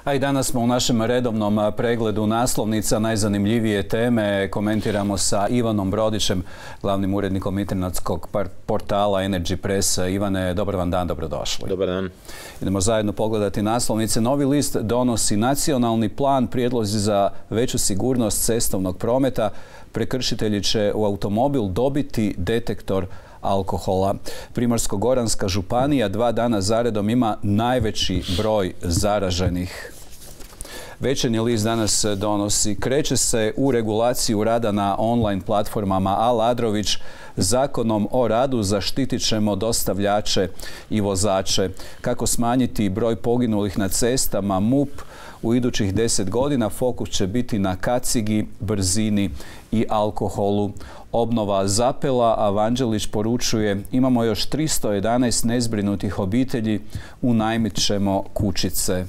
A i danas smo u našem redovnom pregledu naslovnica najzanimljivije teme komentiramo sa Ivanom Brodićem, glavnim urednikom internetskog portala Energy Press. Ivane, dobar vam dan, dobrodošli. Dobar dan. Idemo zajedno pogledati naslovnice. Novi list donosi nacionalni plan, prijedlozi za veću sigurnost cestovnog prometa. Prekršitelji će u automobil dobiti detektor alkohola. Primorsko-goranska županija 2 dana zaredom ima najveći broj zaraženih. Večernji list danas donosi: kreće se u regulaciju rada na online platformama Aladrović. Zakonom o radu zaštitit ćemo dostavljače i vozače. Kako smanjiti broj poginulih na cestama? MUP u idućih 10 godina fokus će biti na kacigi, brzini i alkoholu. Obnova zapela, a Vanđelić poručuje: imamo još 311 nezbrinutih obitelji, unajmit ćemo kućice.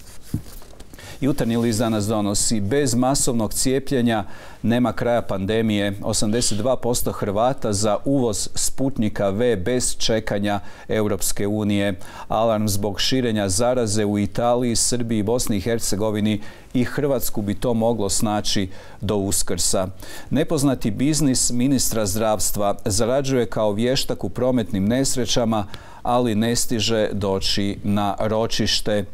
Jutarnji list danas donosi: bez masovnog cijepljenja nema kraja pandemije. 82% Hrvata za uvoz Sputnika V bez čekanja Europske unije. Alarm zbog širenja zaraze u Italiji, Srbiji, Bosni i Hercegovini. I Hrvatsku bi to moglo snaći do Uskrsa. Nepoznati biznis ministra zdravstva: zarađuje kao vještak u prometnim nesrećama, ali ne stiže doći na ročište.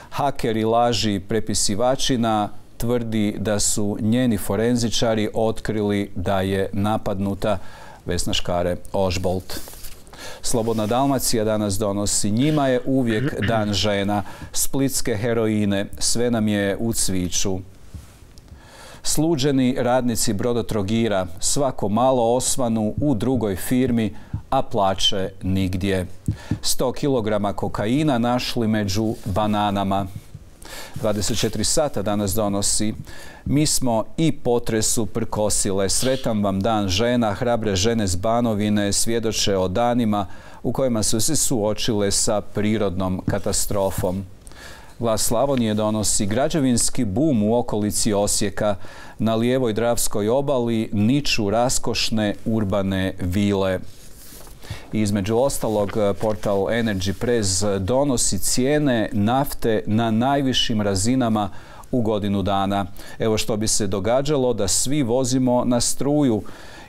Hakeri laži prepisivačina tvrdi da su njeni forenzičari otkrili da je napadnuta. Vesna Škare-Ožbolt. Slobodna Dalmacija danas donosi: njima je uvijek dan žena. Splitske heroine, sve nam je u cviću. Sluđeni radnici Brodotrogira svako malo osvanu u drugoj firmi, a plaće nigdje. 100 kg kokaina našli među bananama. 24 sata danas donosi: mi smo i potresu prkosile. Sretan vam dan žena. Hrabre žene s Banovine svjedoče o danima u kojima su se suočile sa prirodnom katastrofom. Glas Slavonije donosi: građevinski bum u okolici Osijeka. Na lijevoj Dravskoj obali niču raskošne urbane vile. Između ostalog, portal Energy Press donosi cijene nafte na najvišim razinama u godinu dana. Evo što bi se događalo da svi vozimo na struju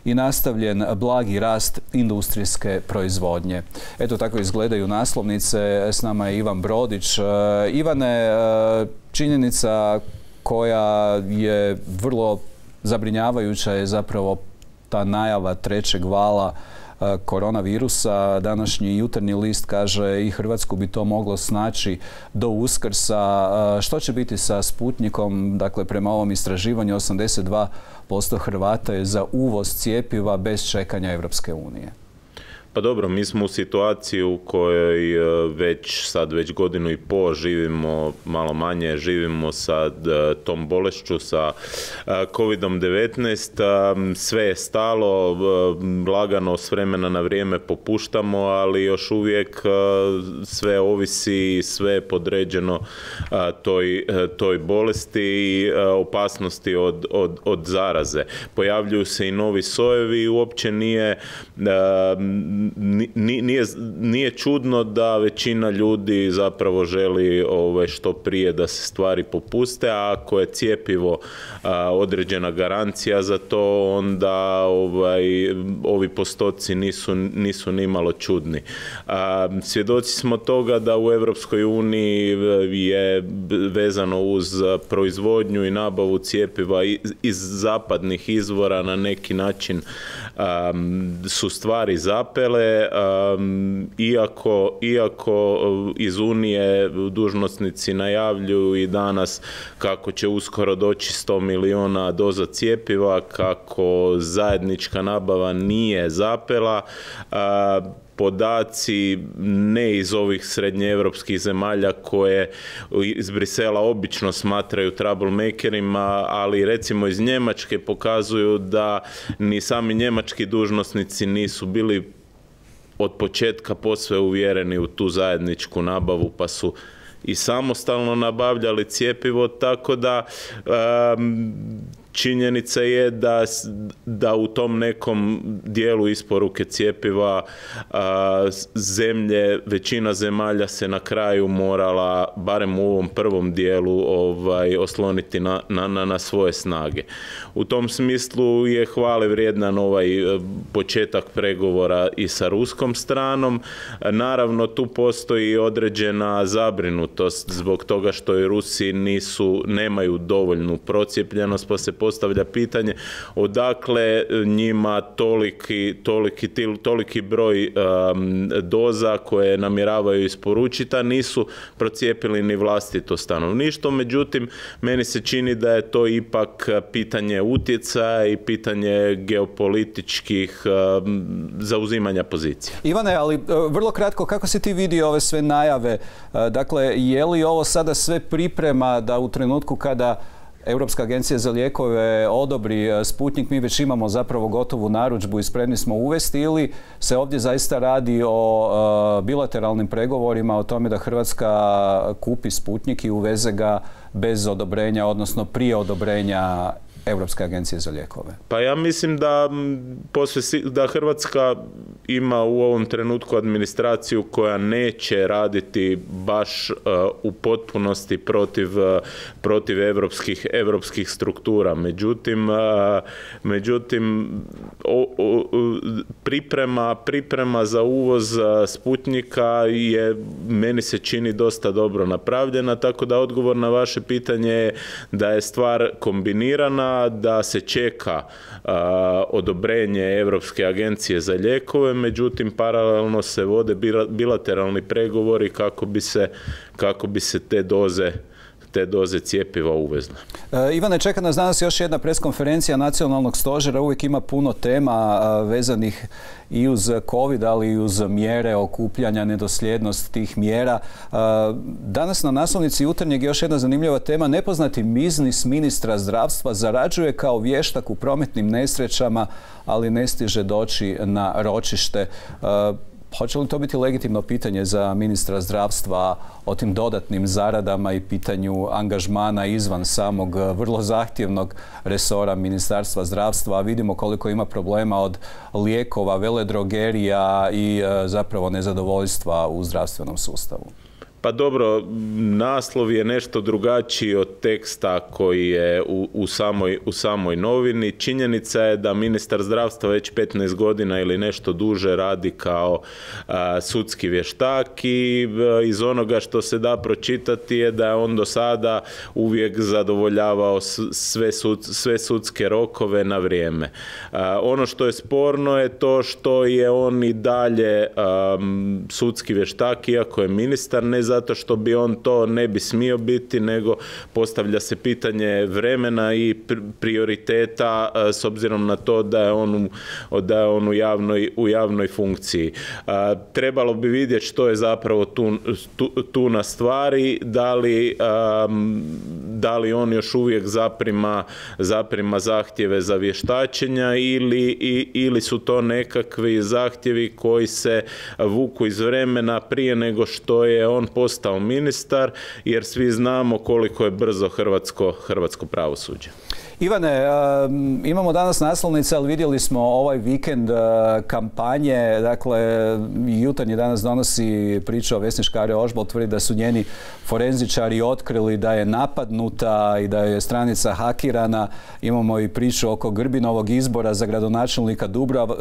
i nastavljen blagi rast industrijske proizvodnje. Eto, tako izgledaju naslovnice. S nama je Ivan Brodić. Ivane, činjenica koja je vrlo zabrinjavajuća je zapravo ta najava trećeg vala koronavirusa. Današnji Jutarnji list kaže: i Hrvatsku bi to moglo snaći do Uskrsa. Što će biti sa Sputnikom? Dakle, prema ovom istraživanju 82% Hrvata je za uvoz cjepiva bez čekanja Europske unije. Pa dobro, mi smo u situaciji u kojoj već godinu i pol živimo, malo manje živimo sa tom bolešću, sa COVID-19. Sve je stalo, lagano s vremena na vrijeme popuštamo, ali još uvijek sve ovisi, sve je podređeno toj bolesti i opasnosti od zaraze. Pojavljuju se i novi sojevi i uopće nije čudno da većina ljudi zapravo želi što prije da se stvari popuste, a ako je cjepivo određena garancija za to, onda ovi postoci nisu nimalo čudni. Svjedoci smo toga da u Europskoj uniji je vezano uz proizvodnju i nabavu cjepiva iz zapadnih izvora na neki način su stvari zapele, iako iz Unije dužnosnici najavljuju i danas kako će uskoro doći 100 milijuna doza cjepiva, kako zajednička nabava nije zapela. Podaci ne iz ovih srednjeevropskih zemalja koje iz Brisela obično smatraju troublemakerima, ali recimo iz Njemačke pokazuju da ni sami njemački dužnosnici nisu bili od početka posve uvjereni u tu zajedničku nabavu, pa su i samostalno nabavljali cjepivo, tako da činjenica je da u tom nekom dijelu isporuke cjepiva većina zemalja se na kraju morala, barem u ovom prvom dijelu, osloniti na svoje snage. U tom smislu je hvale vrijedan ovaj početak pregovora i sa ruskom stranom. Naravno, tu postoji određena zabrinutost zbog toga što i Rusi nemaju dovoljnu procijepljenost, pa se postavlja pitanje odakle njima toliki broj doza koje namjeravaju isporučiti, a nisu procijepili ni vlastito stanovništvo. Međutim, meni se čini da je to ipak pitanje utjecaja i pitanje geopolitičkih zauzimanja pozicija. Ivane, ali vrlo kratko, kako si ti vidio ove sve najave? Dakle, je li ovo sada sve priprema da u trenutku kada Europska agencija za lijekove odobri Sputnik, mi već imamo zapravo gotovu narudžbu i spremni smo uvesti, ili se ovdje zaista radi o bilateralnim pregovorima o tome da Hrvatska kupi Sputnik i uveze ga bez odobrenja, odnosno prije odobrenja Europske agencije za lijekove? Pa ja mislim da Hrvatska ima u ovom trenutku administraciju koja neće raditi baš u potpunosti protiv evropskih struktura. Međutim, priprema za uvoz Sputnika je, meni se čini, dosta dobro napravljena, tako da odgovor na vaše pitanje je da je stvar kombinirana, da se čeka odobrenje Europske agencije za lijekove, međutim paralelno se vode bilateralni pregovori kako bi se te doze cjepiva uvezle. Ivane, čeka nas danas još jedna preskonferencija Nacionalnog stožera. Uvijek ima puno tema vezanih i uz COVID, ali i uz mjere okupljanja, nedosljednost tih mjera. Danas na naslovnici Jutarnjeg još jedna zanimljiva tema. Nepoznati biznis ministra zdravstva, zarađuje kao vještak u prometnim nesrećama, ali ne stiže doći na ročište. Hoće li to biti legitimno pitanje za ministra zdravstva o tim dodatnim zaradama i pitanju angažmana izvan samog vrlo zahtjevnog resora Ministarstva zdravstva? A vidimo koliko ima problema od lijekova, veledrogerija i zapravo nezadovoljstva u zdravstvenom sustavu. Pa dobro, naslov je nešto drugačiji od teksta koji je u samoj novini. Činjenica je da ministar zdravstva već 15 godina ili nešto duže radi kao sudski vještak i iz onoga što se da pročitati je da je on do sada uvijek zadovoljavao sve sudske rokove na vrijeme. Ono što je sporno je to što je on i dalje sudski vještak, iako je ministar, ne zato što bi on to ne bi smio biti, nego postavlja se pitanje vremena i prioriteta s obzirom na to da je on u javnoj funkciji. Trebalo bi vidjeti što je zapravo tu na stvari, da li on još uvijek zaprima zahtjeve za vještačenja ili su to nekakvi zahtjevi koji se vuku iz vremena prije nego što je on postao ministar, jer svi znamo koliko je brzo hrvatsko pravosuđe. Ivane, imamo danas naslovnice, ali vidjeli smo ovaj vikend kampanje. Dakle, Jutarnji danas donosi priču o Vesni Škare-Ožbolt, tvrdi da su njeni forenzičari otkrili da je napadnuta i da je stranica hakirana. Imamo i priču oko Grbinovog izbora za gradonačelnika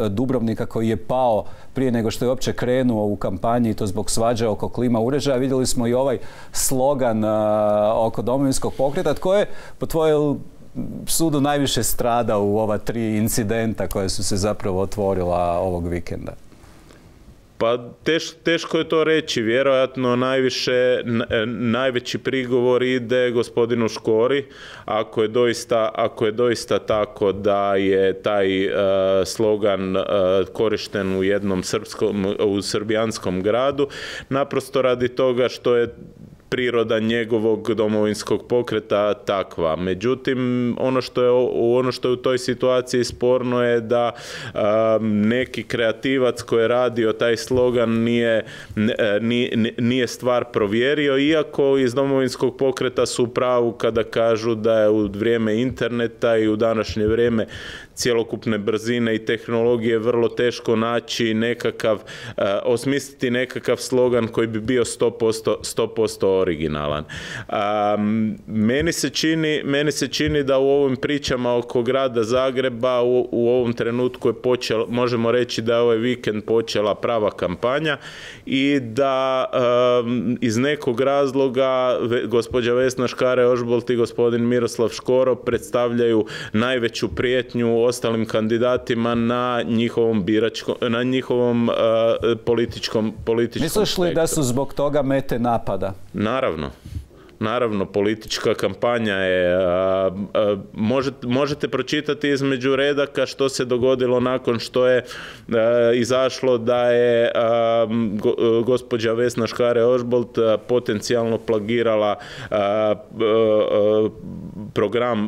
Dubrovnika koji je pao prije nego što je uopće krenuo u kampanji, i to zbog svađe oko klima uređaja. Vidjeli smo i ovaj slogan oko Domovinskog pokreta. Tko je po tvojoj sudu najviše strada u ova 3 incidenta koje su se zapravo otvorila ovog vikenda? Pa teško je to reći. Vjerojatno najveći prigovor ide gospodinu Škori, ako je doista tako da je taj slogan korišten u jednom srbijanskom gradu, naprosto radi toga što je priroda njegovog Domovinskog pokreta takva. Međutim, ono što je u toj situaciji sporno je da neki kreativac koji je radio taj slogan nije stvar provjerio, iako iz Domovinskog pokreta su u pravu kada kažu da je u vrijeme interneta i u današnje vrijeme cjelokupne brzine i tehnologije vrlo teško naći osmisliti nekakav slogan koji bi bio 100% originalan. Meni se čini da u ovim pričama oko grada Zagreba u ovom trenutku možemo reći da je ovaj vikend počela prava kampanja i da iz nekog razloga gospođa Vesna Škare-Ožbolt i gospodin Miroslav Škoro predstavljaju najveću prijetnju ostalim kandidatima na njihovom političkom Misliš li da su zbog toga mete napada? Naravno, politička kampanja je, možete pročitati između redaka što se dogodilo nakon što je izašlo da je gospođa Vesna Škare-Ožbolt potencijalno plagirala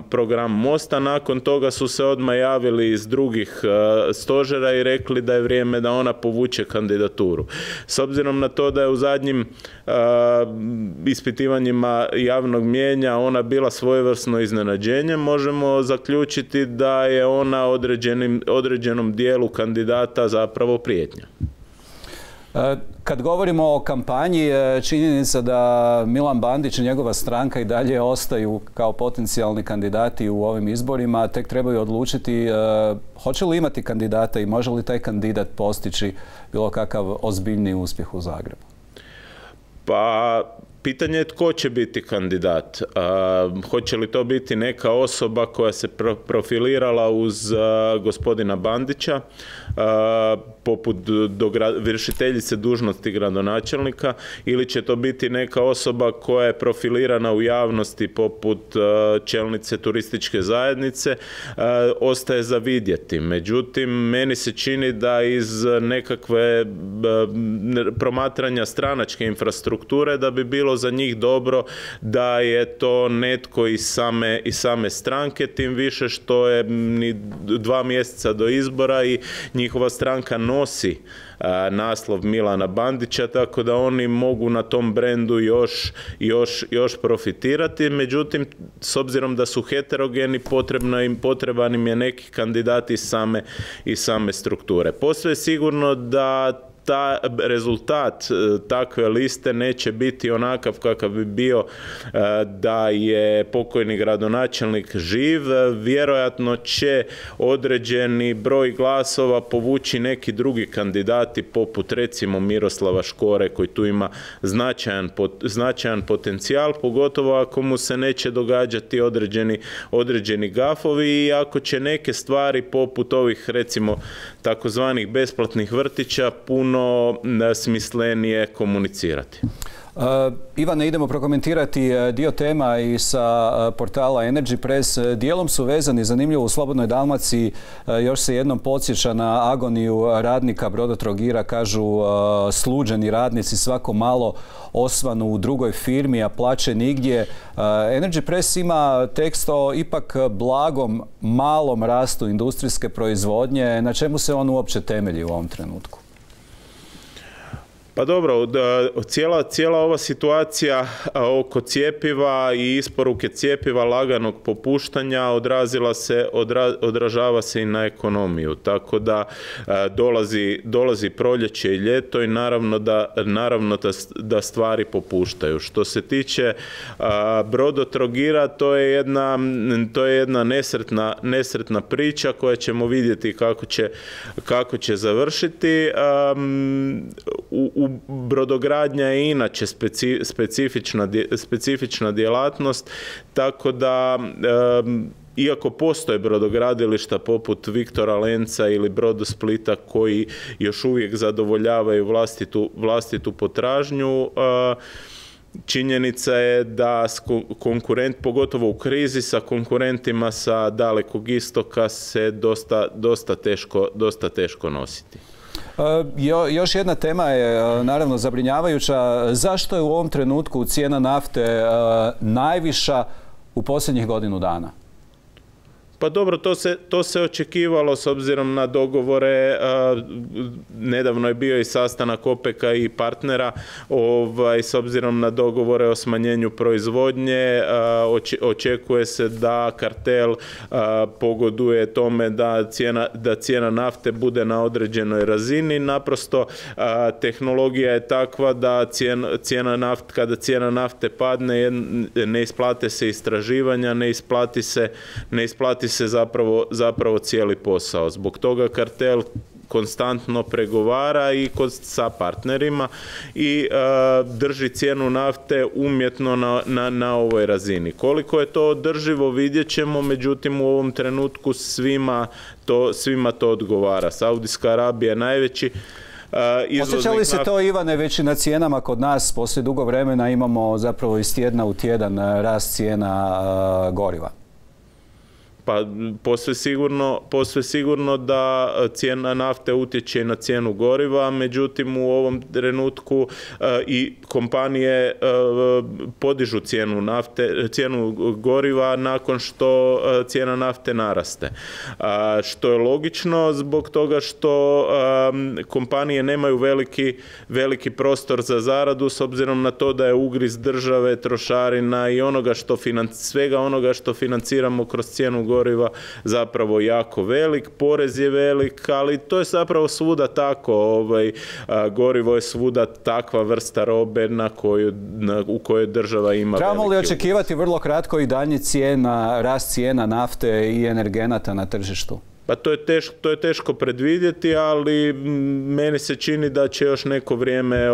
program Mosta. Nakon toga su se odmah javili iz drugih stožera i rekli da je vrijeme da ona povuče kandidaturu. S obzirom na to da je u zadnjim ispitivanjima javnog mnijenja ona bila svojevrsno iznenađenje, možemo zaključiti da je ona određenom dijelu kandidata zapravo prijetnja. Kad govorimo o kampanji, činjenica da Milan Bandić i njegova stranka i dalje ostaju kao potencijalni kandidati u ovim izborima, tek trebaju odlučiti hoće li imati kandidata i može li taj kandidat postići bilo kakav ozbiljni uspjeh u Zagrebu. Pa pitanje je tko će biti kandidat. Hoće li to biti neka osoba koja se profilirala uz gospodina Bandića, poput vršiteljice dužnosti gradonačelnika, ili će to biti neka osoba koja je profilirana u javnosti poput čelnice turističke zajednice, ostaje za vidjeti. Međutim, meni se čini da iz nekakve promatranja stranačke infrastrukture da bi bilo za njih dobro da je to netko iz same stranke, tim više što je 2 mjeseca do izbora i njihova stranka nosi naslov Milana Bandića, tako da oni mogu na tom brendu još profitirati. Međutim, s obzirom da su heterogeni, potreban im je neki kandidati iz same strukture. Posve je sigurno da rezultat takve liste neće biti onakav kakav bi bio da je pokojni gradonačelnik živ. Vjerojatno će određeni broj glasova povući neki drugi kandidati poput recimo Miroslava Škore koji tu ima značajan potencijal, pogotovo ako mu se neće događati određeni gafovi i ako će neke stvari poput ovih recimo takozvanih besplatnih vrtića puno smislenije komunicirati. Ivane, idemo prokomentirati dio tema i sa portala Energy Press. Dijelom su vezani, zanimljivo, u Slobodnoj Dalmaciji još se jednom podsjeća na agoniju radnika Brodotrogira, kažu sluđeni radnici svako malo osvanu u drugoj firmi, a plaće nigdje. Energy Press ima tekst o ipak blagom, malom rastu industrijske proizvodnje. Na čemu se on uopće temelji u ovom trenutku? Pa dobro, cijela ova situacija oko cjepiva i isporuke cjepiva laganog popuštanja odražava se i na ekonomiju. Tako da dolazi proljeće i ljeto i naravno da stvari popuštaju. Što se tiče Brodotrogira, to je jedna nesretna priča koja ćemo vidjeti kako će završiti. Brodogradnja je inače specifična djelatnost, tako da iako postoje brodogradilišta poput Viktora Lenca ili Brodosplita koji još uvijek zadovoljavaju vlastitu potražnju, činjenica je da pogotovo u krizi sa konkurentima sa Dalekog istoka se dosta teško nositi. Još jedna tema je naravno zabrinjavajuća. Zašto je u ovom trenutku cijena nafte najviša u posljednjih godinu dana? Pa dobro, to se očekivalo s obzirom na dogovore. Nedavno je bio i sastanak OPEC-a i partnera s obzirom na dogovore o smanjenju proizvodnje. Očekuje se da kartel pogoduje tome da cijena nafte bude na određenoj razini. Naprosto tehnologija je takva da kada cijena nafte padne, ne isplate se istraživanja, ne isplati se zapravo cijeli posao. Zbog toga kartel konstantno pregovara i sa partnerima i drži cijenu nafte umjetno na ovoj razini. Koliko je to održivo vidjet ćemo, međutim u ovom trenutku svima to odgovara. Saudijska Arabija je najveći Osjeća li se to, Ivane, već i na cijenama kod nas? Poslije dugo vremena imamo zapravo iz tjedna u tjedan rast cijena goriva. Pa posve sigurno da cijena nafte utječe na cijenu goriva, međutim u ovom trenutku i kompanije podižu cijenu goriva nakon što cijena nafte naraste. Što je logično zbog toga što kompanije nemaju veliki prostor za zaradu s obzirom na to da je ugriz države, trošarina i svega onoga što financiramo kroz cijenu goriva zapravo jako velik, porez je velik, ali to je zapravo svuda tako. Gorivo je svuda takva vrsta robe u kojoj država ima. Trebamo li očekivati vrlo kratko i daljnji rast cijena nafte i energenata na tržištu? Pa to je teško predvidjeti, ali meni se čini da će još neko vrijeme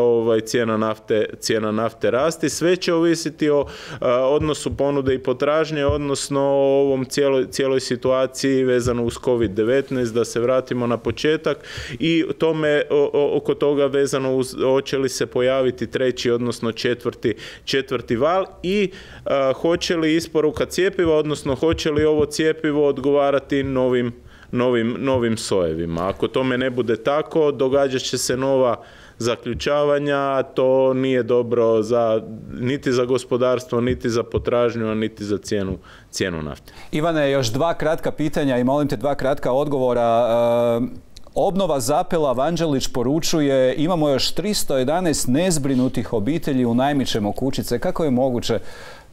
cijena nafte rasti. Sve će ovisiti o odnosu ponude i potražnje, odnosno o ovom cijeloj situaciji vezano uz COVID-19, da se vratimo na početak i oko toga vezano uz hoće li se pojaviti treći, odnosno četvrti val i hoće li isporuka cjepiva, odnosno hoće li ovo cjepivo odgovarati novim sojevima. Ako tome ne bude tako, događat će se nova zaključavanja, a to nije dobro niti za gospodarstvo, niti za potražnju, a niti za cijenu nafte. Ivane, još dva kratka pitanja i molim te dva kratka odgovora. Obnova zapela, Vanđelić poručuje, imamo još 311 nezbrinutih obitelji u Najmićem Okučice. Kako je moguće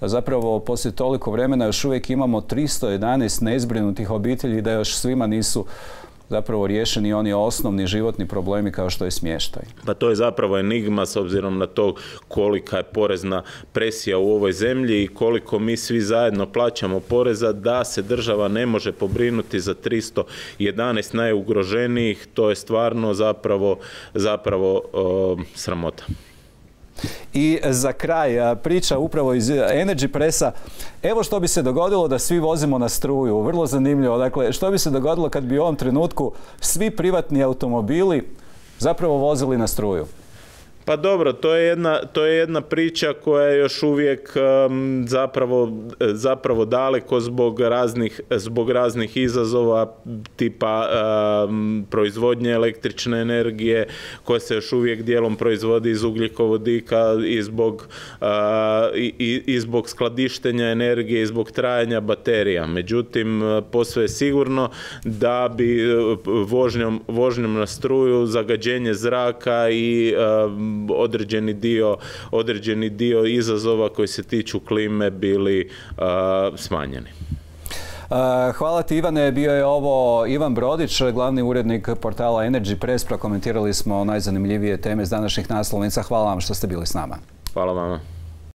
zapravo poslije toliko vremena još uvijek imamo 311 nezbrinutih obitelji, da još svima nisu zapravo riješeni oni osnovni životni problemi kao što je smještaj? Pa to je zapravo enigma s obzirom na to kolika je porezna presija u ovoj zemlji i koliko mi svi zajedno plaćamo poreza, da se država ne može pobrinuti za 311 najugroženijih. To je stvarno zapravo sramota. I za kraj, priča upravo iz Energy Pressa. Evo što bi se dogodilo da svi vozimo na struju. Vrlo zanimljivo. Dakle, što bi se dogodilo kad bi u ovom trenutku svi privatni automobili zapravo vozili na struju? Pa dobro, to je jedna priča koja je još uvijek zapravo daleko zbog raznih izazova tipa proizvodnje električne energije koja se još uvijek dijelom proizvodi iz ugljikovodika i zbog skladištenja energije i zbog trajanja baterija. Međutim, posve je sigurno da bi vožnjom na struju zagađenje zraka i određeni dio izazova koji se tiču klime bili smanjeni. Hvala ti, Ivane. Bio je ovo Ivan Brodić, glavni urednik portala Energy Press. Prokomentirali smo najzanimljivije teme s današnjih naslovnica. Hvala vam što ste bili s nama. Hvala vama.